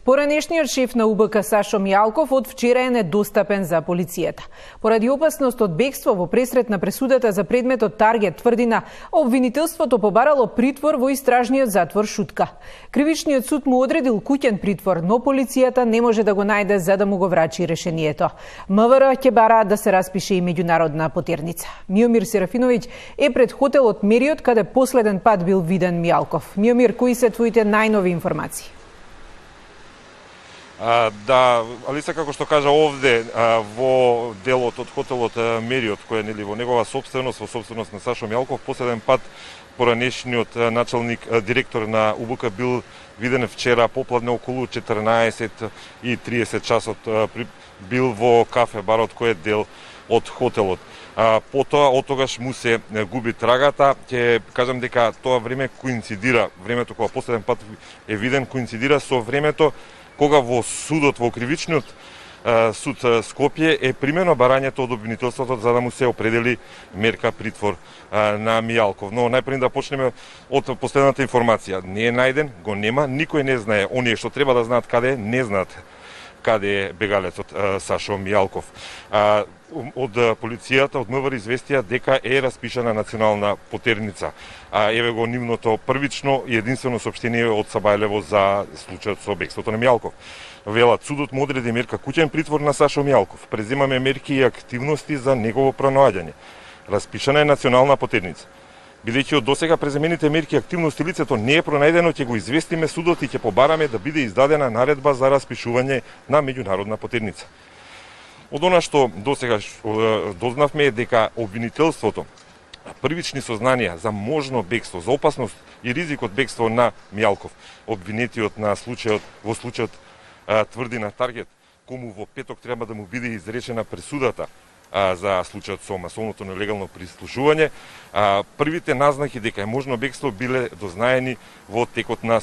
Поранешниот шеф на УБК Сашо Мијалков од вчера е недостапен за полицијата. Поради опасност од бегство во пресрет на пресудата за предметот Таргет тврдина, обвинителството побарало притвор во истражниот затвор Шутка. Кривичниот суд му одредил куќен притвор, но полицијата не може да го најде за да му го врачи решението. МВР ќе бара да се распише и меѓународна потерница. Миомир Серафиновиќ е пред хотелот Мериот, каде последен пат бил виден Мијалков. Миомир, кои се твоите најнови информации? Да, Алиса, како што кажа овде, во делот од хотелот Мериот, кој е во негова собственост, во собственост на Сашо Мијалков, последен пат поранешниот началник, директор на УБК бил виден вчера попладне околу 14:30 часот, бил во кафе барот кој е дел од хотелот. Потоа од тогаш му се губи трагата. Ќе кажам дека тоа време коинцидира, времето кога последен пат е виден коинцидира со времето кога во судот, во кривичниот суд Скопје е примено барањето од обвинителството за да му се определи мерка притвор на Мијалков. Но најпред да почнеме од последната информација. Не е најден, го нема, никој не знае. Оние што треба да знаат каде е, не знаат каде е бегалецот Сашо Мијалков. Од полицијата, од МВР известија дека е распишана национална потерница. Еве го нивното првично и единствено соопштение од Сабајлево за случајот со бегството на Мијалков. Велат, судот му одреди мерка куќен притвор на Сашо Мијалков. Преземаме мерки и активности за негово пронаоѓање. Распишана е национална потерница. Бидејќи од досега преземените мерки и активности лицето не е пронајдено, ќе го известиме судот и ќе побараме да биде издадена наредба за распишување на меѓународна потерница. Од она што досега дознавме е дека обвинителството првични сознанија за можно бегство, за опасност и ризик од бегство на Мијалков, обвинетиот на случајот во случајот тврди на Таргет, кому во петок треба да му биде изречена пресудата за случајот со масовното нелегално прислушување, првите назнаки дека е можно бегство биле дознаени во текот на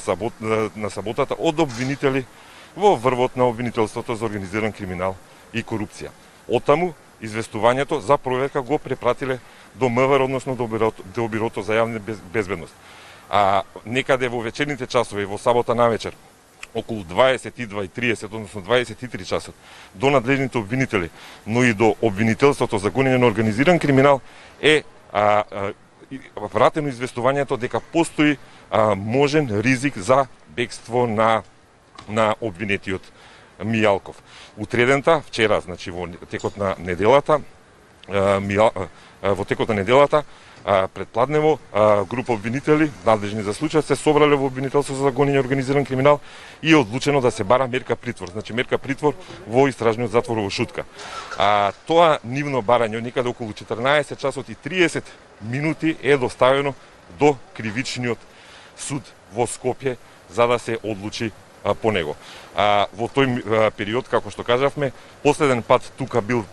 саботата од обвинители во врвот на обвинителството за организиран криминал и корупција. Оттаму известувањето за проверка го препратиле до МВР, односно до Бирото за јавна безбедност. Некаде во вечерните часови, во сабота навечер, околу 22:30, односно 23 часот, до надлежните обвинители, но и до обвинителството за гонење на организиран криминал е вратено известувањето дека постои можен ризик за бегство на обвинетиот Мијалков. Утредента, вчера, значи во текот на неделата, предпладнево група обвинители, надлежни за случајот, се собрале во обвинителство за гонење организиран криминал и е одлучено да се бара мерка притвор. Значи мерка притвор во истражниот затвор во Шутка. Тоа нивно барање некаде околу 14 часот и 30 минути е доставено до кривичниот суд во Скопје за да се одлучи по него. Во тој период, како што кажавме, последен пат тука бил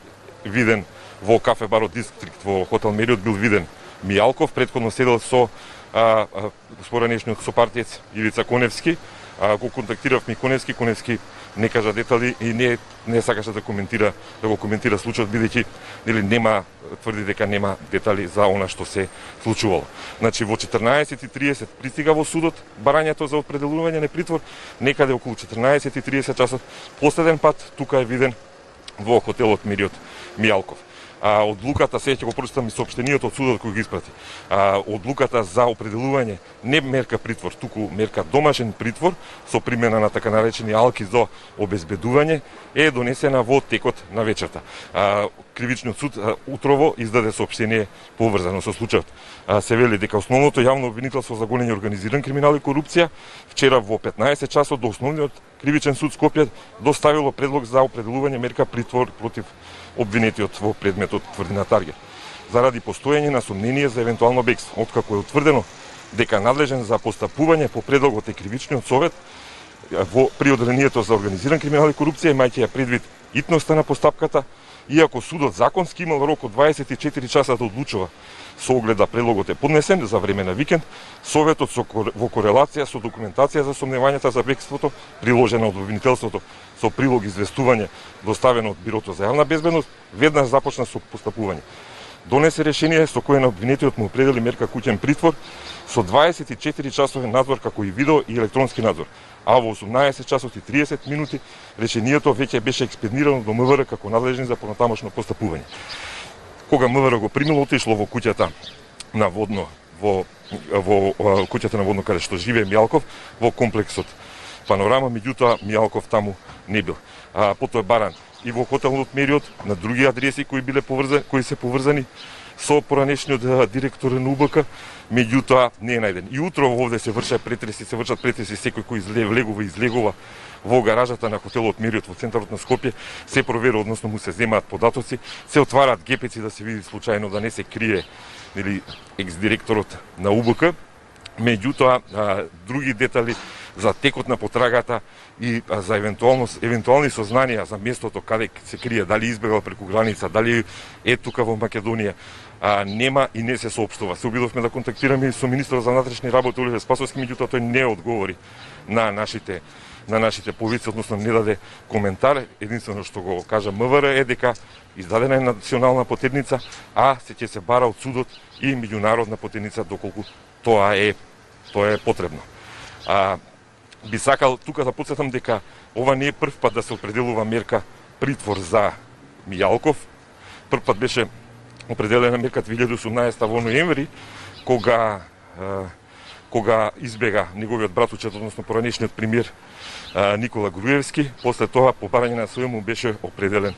виден во кафе барот Дистрикт во хотел Мериот бил виден Мијалков, претходно седел со споранешниот сопартиец Ивица Коневски. Го контактиравме Коневски не кажа детали и не сакаше да го коментира случајот, бидејќи тврди дека нема детали за она што се случувало. Значи во 14:30 пристига во судот барањето за определување на притвор, некаде околу 14:30 часот последен пат тука е виден во хотелот Мериот Мијалков. Одлуката, сега ќе го прочитам и соопштенијето од судот кој го испрати. Одлуката за определување не мерка притвор, туку мерка домашен притвор со примена на така наречени алки за обезбедување е донесена во текот на вечерта. Кривичниот суд утрово издаде соопштение поврзано со случајот. Се вели дека основното јавно обвинителство за гонење организиран криминал и корупција вчера во 15 часот до основниот кривичен суд Скопје доставило предлог за определување мерка притвор против обвинетиот во предметот тврди на Таргет. Заради постоење на сомнение за евентуално бегство, откако е утврдено дека надлежен за постапување по предлогот е кривичниот совет при одделението за организиран криминал и корупција, имајќи ја предвид итноста на постапката, иако судот законски имал рок од 24 часа да одлучува со оглед да предлогот е поднесен за време на викенд, советот во корелација со документација за сомневањата за бегството, приложена од обвинителството со прилог известување доставено од Бирото за јавна безбедност, веднаш започна со постапување. донесе решение со кое на обвинетиот му определи мерка куќен притвор со 24 часовен надзор како и видео и електронски надзор. А во 18 часот и 30 минути решението веќе беше експедирано до МВР како надлежни за понатамошно постапување. Кога МВР го примило, отишло во куќата на Водно, во куќата на Водно каде што живее Мијалков, во комплексот Панорама, меѓутоа Мијалков таму не бил. Потоа баран и во хотелот Мериот на други адреси кои се поврзани со поранешниот директор на УБК, меѓутоа не е најден. И утро овде се вршат претреси секој кој влегува и излегува во гаражата на хотелот Мериот во центарот на Скопје, се проверува, односно му се земаат податоци, се отвараат гепеци да се види случајно да не се крие или екс-директорот на УБК, меѓутоа други детали за текот на потрагата и за евентуални сознанија за местото каде се крие, дали избегал преку граница, дали е тука во Македонија, нема и не се соопштува. Се обидовме да контактираме со министерот за внатрешни работи Оливер Спасовски, меѓутоа тој не одговори на нашите повици, односно не даде коментар. Единствено што го кажа МВР е дека издадена е национална потедница, а ќе се бара од судот и меѓународна потедница доколку тоа е потребно. Би сакал тука да потсетам дека ова не е прв пат да се определува мерка притвор за Мијалков. Прв пат беше определена мерка 2018 во ноември, кога избега неговиот братучет, односно поранешниот премиер Никола Груевски. После тоа, по барање на СУ му беше определен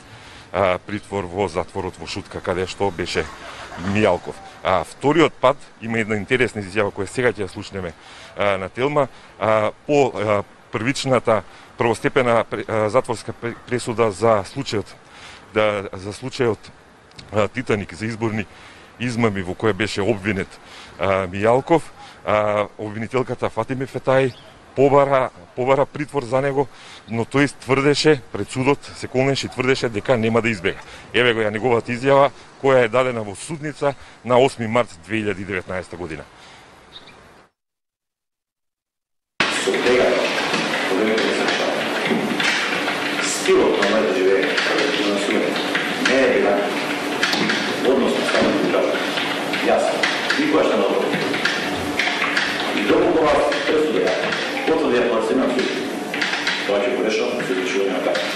притвор во затворот во Шутка, каде што беше Мијалков. Вториот пат има една интересна изјава која сега ќе ја слушнеме на Телма. По првичната првостепена затворска пресуда за случајот Титаник, за изборни измами во која беше обвинет Мијалков, обвинителката Фатиме Фетај побара притвор за него, но тој тврдеше пред судот, се колнеше и тврдеше дека нема да избега. Еве го ја неговата изјава која е дадена во судница на 8 март 2019 година. Со тега, проблемите не се решаваат. Стилот на моето живење, на суме, не е била односно само да кажа. Јас, никоја што надобро. И доколку вас пресудија, потврдија кога се имам суд, тоа ќе го решавам со изречување на казна.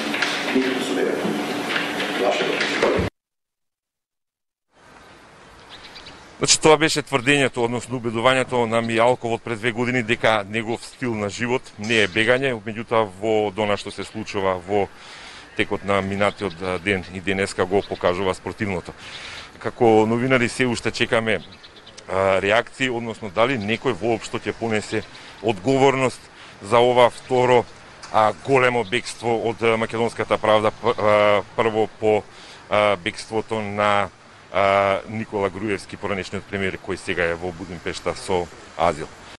Никако судега. Ваше го. Значи, тоа беше тврдењето, односно убедувањето на Мијалков пред 2 години дека негов стил на живот не е бегање, меѓутоа во дона што се случува во текот на минатиот ден и денеска го покажува спротивното. Како новинари се уште чекаме реакции, односно дали некој воопшто ќе понесе одговорност за ова второ големо бегство од македонската правда, прво по бегството на Никола Груевски, поранешниот премиер кој сега е во Будимпешта со азил.